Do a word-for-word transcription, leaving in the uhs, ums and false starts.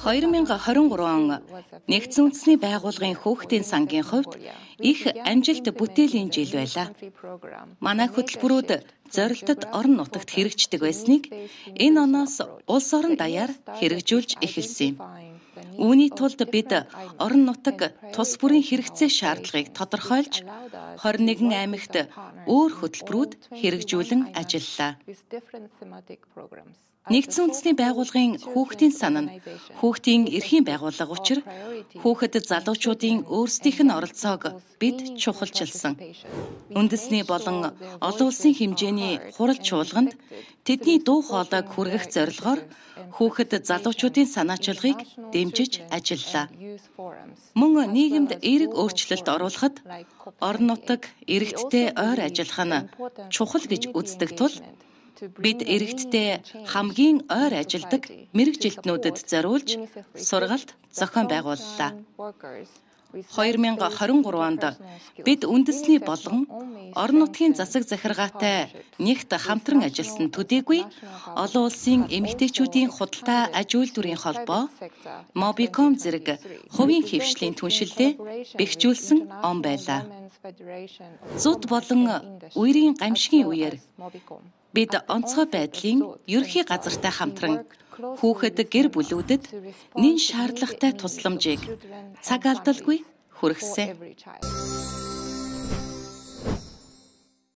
хоёр мянга хорин гурван он Нэгдсэн үндэсний байгууллагын хүүхдийн сангийн хувьд их амжилт бүтээлийн жил байлаа. Манай хөтөлбөрүүд зорилтод орон нутагт хэрэгждэг байсныг энэ оноос улс орон даяар хэрэгжүүлж эхэлсэн юм. Үүний тулд бид орон нутаг тус бүрийн хэрэгцээ шаардлагыг тодорхойлж хорин нэгэн аймагт өөр хөтөлбөрүүд хэрэгжүүлэн ажиллалаа. Нэгдсэн үндэсний байгууллагын хүүхдийн сан нь хүүхдийн эрхийн байгууллага учраа хүүхэд залуучуудын өөрсдийнх нь оролцоог бид чухалчилсан. Үндэсний болон олон улсын хэмжээний хурал чуулганд тэдний дуу хоолойг хүргэх зорилгоор хүүхэд залуучуудын санаачилгыг дэмжиж ажиллалаа. Мөн нийгэмд эерэг өөрчлөлт оруулахад орон нутаг эрэгтдээ ойр ажиллах нь чухал гэж үздэг тул бид эрэгтдээ хамгийн ойр ажилдаг мэргэжилтнүүдэд зориулж сургалт зохион байгууллаа. хоёр мянга хорин гурван онд бид үндэсний болгон орон нутгийн засаг захиргаатай нэгт хамтран ажилласан төдийгүй олон улсын эмэгтэйчүүдийн худалдаа аж үйлдвэрийн холбоо Mobicom зэрэг хувийн хэвшлийн түншлэлээ бэхжүүлсэн он байлаа. Зуд болон үерийн гамшигын үеэр бид онцгой байдлын ерөнхий газартай хамтран хүүхэд гэр бүлүүдэд нэн шаардлагатай тусламжийг цаг алдалгүй хүргэсэн.